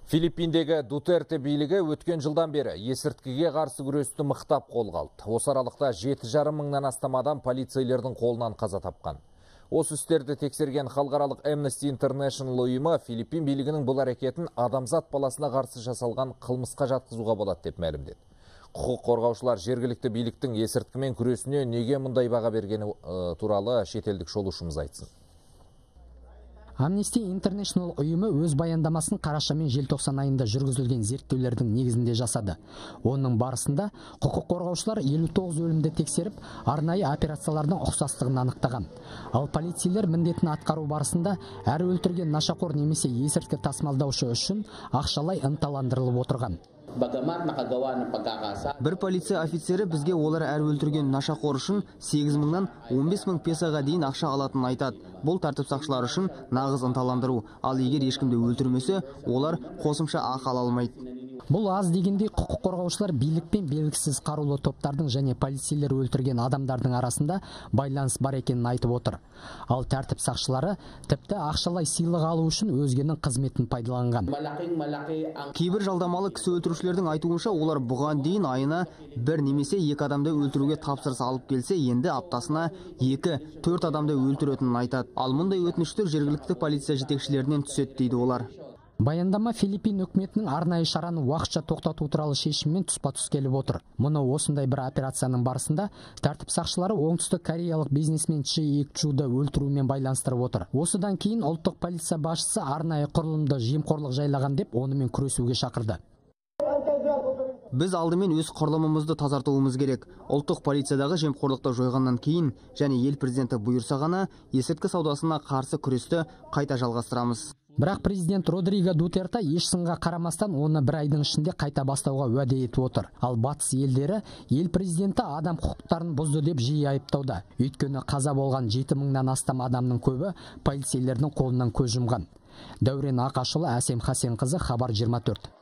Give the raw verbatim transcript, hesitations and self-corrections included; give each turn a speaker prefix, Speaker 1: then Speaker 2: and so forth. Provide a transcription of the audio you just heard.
Speaker 1: Филиппиндегі Дутерте билігі өткен жылдан бері есірткіге қарсы күресті мықтап қолға алды. Осы аралықта жеті жарым мыңнан астам адам полицейлердің қолынан қаза тапқан. Осы істерді тексерген халықаралық Amnesty International ұйымы Филиппин билігінің бұл әрекетін адамзат баласына қарсы жасалған қылмысқа жатқызуға болады деп мәлімдеді. Құқық қорғаушылар жергілікті биліктің есірткімен күресіне неге мұндай баға бергені туралы шетелдік шолушымыз айтсын.
Speaker 2: Amnesty International ұйымы өз баяндамасын қараша мен желтоқсан айында жүргізілген зерттеулердің негізінде жасады. Оның барысында құқық қорғаушылар елу тоғыз өлімді тексеріп, арнайы операциялардың ұқсастығын анықтаған. Ал полицейлер міндетін атқару барысында әр өлтірген нашақор немесе есірткі тасымалдаушы үшін ақшалай ынталандырылып отырған.
Speaker 3: Бір полиция офицері бізге олар әр өлтірген нашақор үшін сегіз мыңнан он бес мың песоға дейін ақша алатынын айтады. Бұл тәртіп сақшылары үшін нағыз ынталандыру. Ал егер ешкімді өлтірмесе, олар қосымша ақы ала алмайды.
Speaker 2: Бұл аз дегендей құқық қорғаушылар билікпен белгісіз қарулы топтардың және полицейлер өлтірген адамдардың арасында байланыс бар екенін айтып отыр. Ал тәртіп сақшылары тіпті ақшалай сыйлық алу үшін өзгенің қызметін пайдаланған.
Speaker 3: Кейбір жалдамалы кісі өлтірушілердің айтуынша, олар бұған дейін айына бір немесе екі адамды өлтіруге тапсырыс алып келсе, енді аптасына екі төрт адамды өлтіретінін айтады. Ал мұндай өтініштер жергілікті полиция жетекшілерінен түседі дейді олар.
Speaker 2: Баяндама Филиппин үкіметінің арнайы шараны уақытша тоқтату туралы шешіммен тұспа-тұс келіп отыр. Мұны осындай бір операцияның барысында тәртіп сақшылары оңтүстік кореялық бизнесмен Чи Ик Чуды өлтірумен байланыстырып отыр. Осыдан кейін ұлттық полиция басшысы арнайы құрылымды жемқорлық жайлаған деп онымен күресуге шақырды.
Speaker 3: Біз алдымен өз құрылымымызды тазартуымыз керек. Ұлттық полициядағы жемқорлықты жойғаннан кейін және ел президенті бұйырса ғана есірткі саудасына қарсы күресті қайта жалғастырамыз.
Speaker 2: Бірақ президент Родриго Дутерте еш сынға қарамастан оны бір айдың ішінде қайта бастауға уәде етіп отыр. Ал батыс елдері ел президенті адам құқықтарын бұзды деп жиі айыптауда. Өйткені қаза болған жеті мыңнан астам адамның көбі полицейлердің қолынан көз жұмған. Дәурен Ақашұлы, Әсем Хасенқызы, Хабар жиырма төрт.